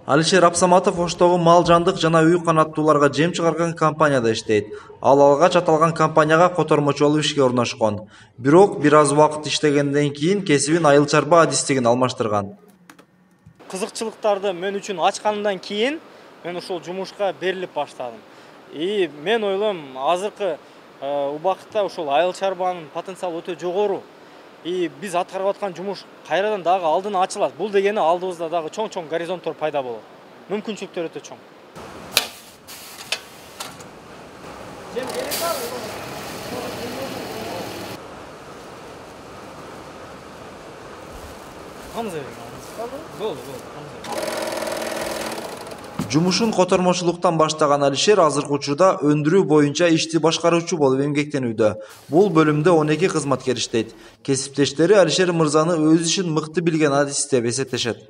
Алишер Абсаматов Оштогу мал жандык жана үй канаттууларга жем чыгарган компанияда иштейт. Ал алгач аталган компанияга котормочу болуп ишке орношкон. Бирок бир аз убакыт иштегенден кийин кесибин айыл чарба адистигин алмаштырган. Кызыкчылыктарды мен үчүн ачкандан кийин мен ушул жумушка берилип баштадым. Мен ойлойм, азыркы убакытта ушул айыл чарбанын потенциалы өтө жогору. Биз аткарып аткан жумуш кайрадан дагы алдын ачылат. Бул дегени алдыбызда дагы чоң горизонттор пайда болот. Мүмкүнчүлүктөр өтө чоң. Жумушун котормочулуктан баштаган Алишер азыркы учурда өндүрүү боюнча ишти башкаруучу болуп эмгектенүүдө. Бул бөлүмдө 12 кызматкер иштейт. Кесиптештери Алишер мырзаны өз ишин мыкты билген адис деп эсептешет.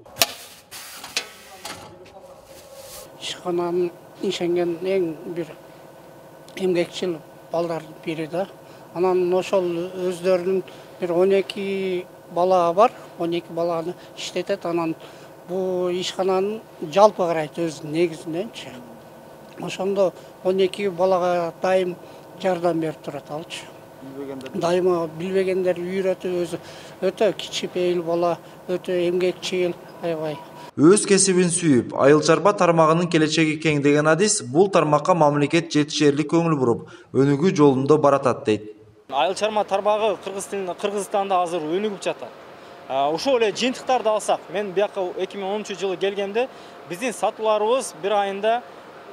Ишкананын ишенген эң бир эмгекчил балдардын бири да. Анан ошол өздөрүнүн бир 12 бала бар, 12 баланы иштетет. Анан бул ишкананын жалпы карайт өз негизиненчи. Ошондо 12 балага дайым жардам берип турат алчы. Дайыма билбегендерди үйрөтүп, өзү өтө кичипейил бала, өтө эмгекчил, аябай. Өз кесибин сүйүп, айыл чарба тармагынын келечеги кең деген адис бул тармакка мамлекет жетишерлик көңүл буруп, өнүгүү жолунда баратат дейт. Айыл чарба тармагы Кыргызстанда азыр өнүгүп жатат. Ошол эле жыйынтыктарды алсак, мен бияка 2010-жылы келгенде биздин сатууларыбыз бир айында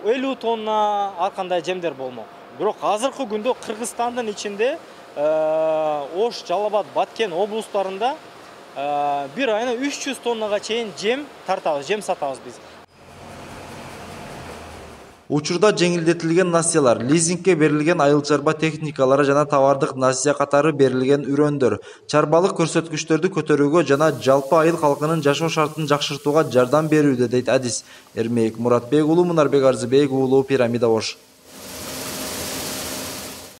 50 тонна ар кандай жемдер болмок. Бирок азыркы күндө Кыргызстандын ичинде Ош, Жалал Абад, Баткен облустарында бир айына 300 тоннага чейин жем тартабыз, жем сатабыз биз. Учурда жеңилдетилген насыялар, лизингке берилген айыл чарба техникалары жана товардык насыя катары берилген үрөндөр чарбалык көрсөткүчтөрдү көтөрүүгө жана жалпы айыл калкынын жашоо шартын жакшыртууга жардам берүүдө дейт адис. Эрмек Муратбек уулу, Мунарбек Арзыбек уулу, Пирамида Ош.